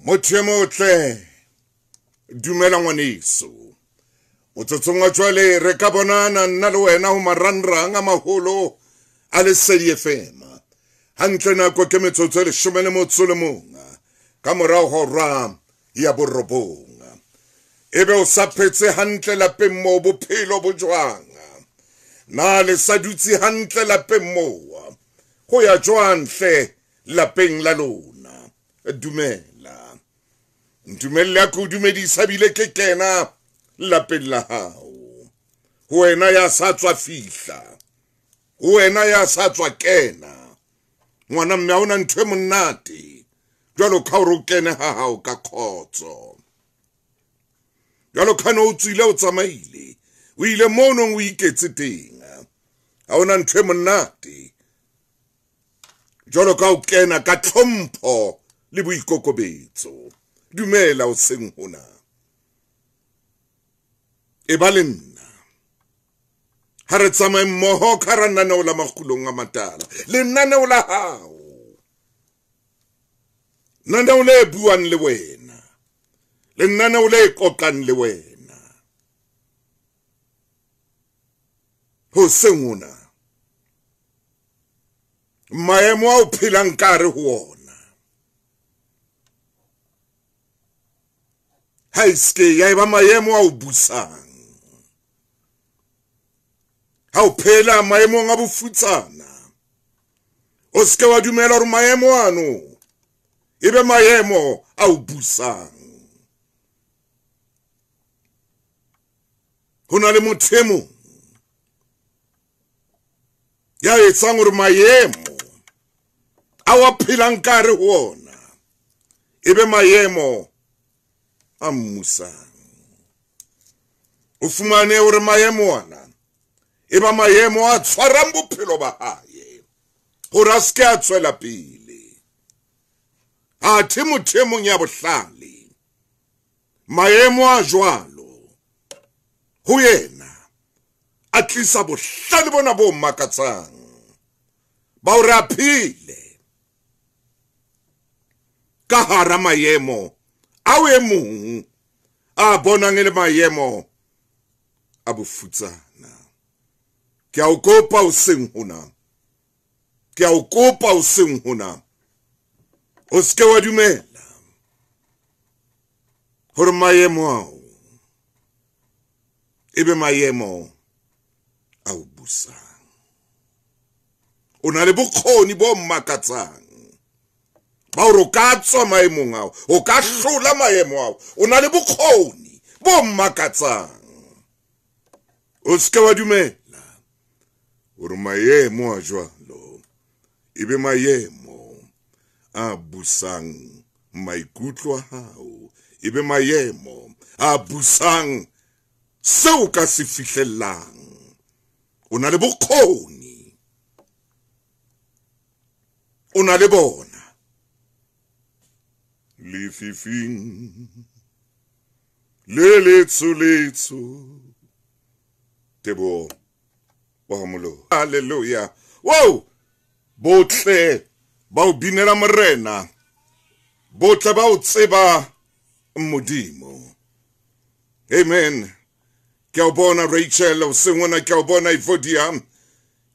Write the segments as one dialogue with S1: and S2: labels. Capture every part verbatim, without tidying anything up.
S1: Motho e motle, dumela ngwaneso. Motsotsong wa jwale re ka bonana nna le wena ho marangrang a maholo a Lesedi F M. Hantle nako ke metsotso e leshome le motso le mong ka morao hora ya borobong. Ebe o sa phetse hantle lapeng moo, bophelo bo jwang? Na le sa dutse hantle lapeng moo? Ho ya jwang hle lapeng la lona? Dumela. Ntumelle a ke o dumedisa bile ke kena lapeng la hao. Ho wena ya sa tswa fihla, ho wena ya sa tswa kena, ngwana mme ha hona ntho e monate jwalo ka hore o kene ha hao ka kgotso. Jwalo ka no o tswile o tsamaile, o ile moo nong o iketse teng. Ha hona ntho e monate jwalo ka o kena ka tlhompho le boikokobetso. Dumela o seng hona. E ba le nna. Ha re tsamaye mmoho ka hara lenaneo la Makgulong a Matala. Lenaneo la hao. Lenaneo le buang le wena. Lenaneo le qoqang le wena. Ho seng hona. Maemo ao phelang ka hare ho ona. Ha e ske ya eba maemo ao busang. Ha o phela maemong a bofutsana, o seke wa dumela hore maemo ano ebe maemo a o busang. Ho na le motho e mong ya etsang hore maemo ao a phelang ka hare ho ona ebe maemo a mmusang. O fumane hore maemo ana e ba maemo a tshwarang bophelo ba hae hore a seke a tswela pele. Athe motho e mong ya bohlale, maemo a jwalo ho yena a tlisa bohlale bona bo makatsang ba hore a phele ka hara maemo ao e mong a bonang e le maemo a bofutsana. Ke a o kopa o seng hona. Ke a o kopa o seng hona. O seke wa dumela hore maemo ao ebe maemo a o busang. O na le bokgoni bo makatsang ba hore o ka tswa maemong ao, o ka hlola maemo ao. O na le bokgoni bo makatsang. O seke wa dumela hore maemo a jwalo ebe maemo a busang maikutlo a hao, ebe maemo a busang seo ka se fihlellang. O na le bokgoni, o na le bona. Lefifing le letsho letsho, Teboho wa Molo. Hallelujah. Wow! Botle ba o binela Morena, botle ba o tseba Modimo. Amen. Ke o bona Rachel, o sengwana, ke o bona Ivodia,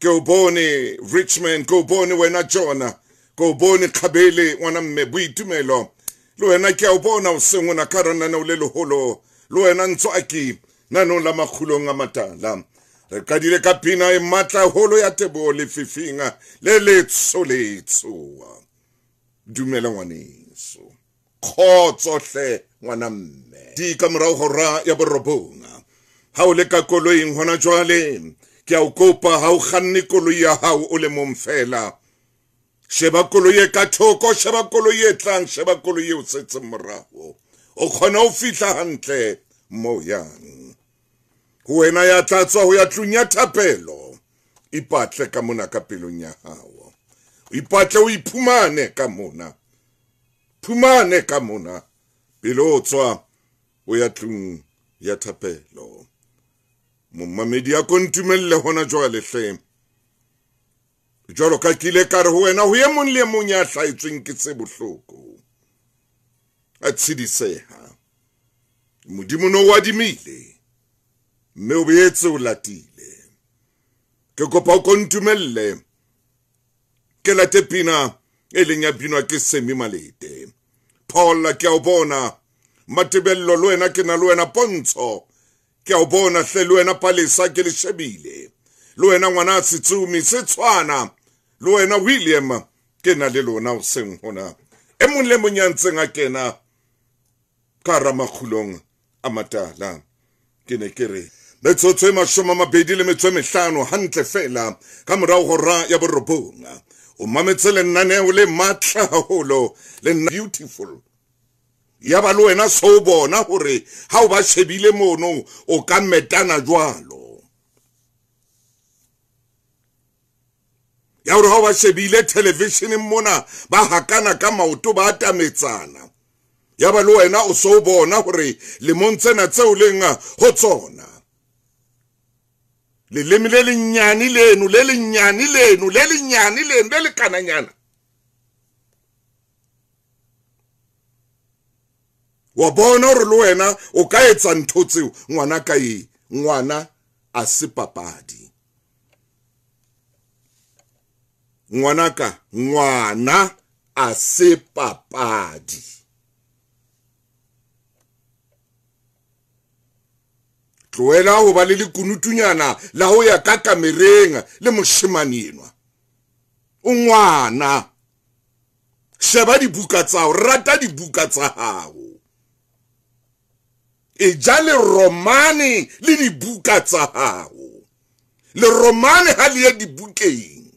S1: ke o bone Richmond, ke o bone wena Jonah, ke o bone Khabele ngwana mme Boitumelo. Le wena ke o bona o sengwana ka lenaneo le leholo, le wena Ntswaki nanong la Makgulong a Matala. Re qadile ka pina e matla holo ya Teboho lefifing le letsho letsho. Dumela ngwaneso. Kgotso hle ngwana mme. Di ka morao hora ya borobong. Ha o le ka koloing hona jwale, ke a o kopa ha o kganne koloi ya hao o le mong fela. Sheba koloi e ka thoko, sheba koloi e tlang, sheba koloi e o setseng morao. O kgona ho fihla hantle moo yang. Ho wena ya tla tswa ho ya tlung ya thapelo, ipatle ka mona ka pelong ya hao. O ipatle o iphumane ka mona. Phumane ka mona pele o tswa o ya tlung ya thapelo. Momamedi a ko ntumelle hona jwale hle. Jwalo ka ke ile ka re ho wena, ho e mong le e mong ya hlahetsweng ke tse bohloko. a tshidiseha. Modimo no o adimile mme o boetse o latile. Ke kopa o ko ntumelle ke late pina e leng ya binwa ke Semi Malete. Paul ke a o bona, Matebello le wena ke na le wena, Pontsho ke a o bona hle, le wena Palesa ke le shebile, le wena ngwana Setsumi se tshwana, le wena William ke na le lona hoseng hona. E mong le mong ya ntseng a kena ka hara makgulong a matala. Ke ne ke re metsotso e mashome a mabedi le metso e mehlano hantle fela ka morao hora ya borobong. O mametse lenaneo le matla haholo le beautiful. Ya ba le wena so bona hore ha o ba shebile mono o ka metana jwalo. Ya hore ha o ba shebile televisioneng mona ba hakana ka maoto ba atametsana. Ya ba le wena o so bona hore lemong tsena tseo leng ho tsona. Leleme le lenyane leno, le lenyane leno, le lenyane leno, le lekananyana. Wa bona hore le wena o ka etsa ntho tseo, ngwana ka e, ngwana a se papadi. Ngwana ka, ngwana a se papadi. Tlohela ho ba le lekunutunyana la ho ya ka kamereng le moshemane enwa. O ngwana. Sheba dibuka tsa hao, rata dibuka tsa hao. E ja le romane le dibuka tsa hao. Le romane ha le ye dibukeng.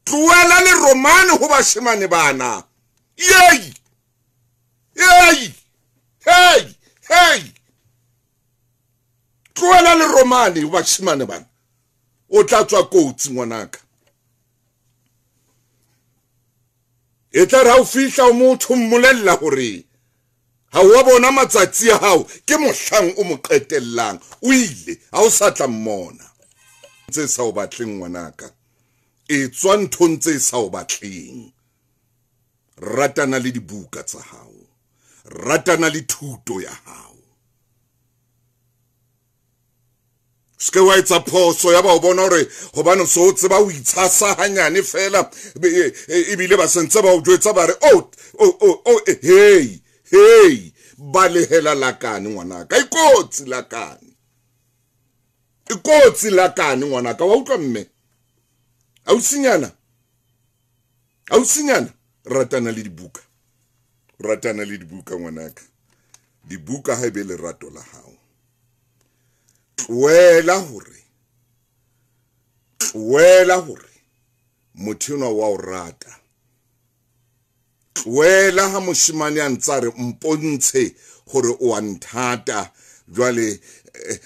S1: Tlohela le romane ho bashemane bana. Yey! Yey! Hey! Hey! Tlohela le romane ho bashemane bana. O tla tswa kotsi ngwanaka. E tla re ha o fihla o motho mmolella hore ha wa bona matsatsi a hao ke mohlang o mo qetellang, o ile ha o sa tla mmona. Tse sa o batleng ngwanaka, e tswa nthong tse sa o batleng. Ratana le dibuka tsa hao, ratana le thuto ya hao. Ske wa etsa phoso ya ba o bona hore hobane so o tseba o itshasa hanyane fela, ebile ba sentse ba o jwetsa ba re oh oh oh hey hey, balehela lakane ngwanaka, ikotsi lakane, ikotsi lakane ngwanaka. Wa utlwa mme? Ausinyana, ausinyana, ratana le dibuka, ratana le dibuka ngwanaka. Dibuka ha ebe lerato la hao. Tlohela hore, tlohela hore motho enwa wa o rata. Tlohela ha moshemane a ntsa re mpontshe hore o a nthata. Jwale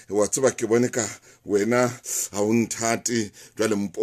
S1: wa tseba ke bone ka wena ha o nthate, jwale mpontshe.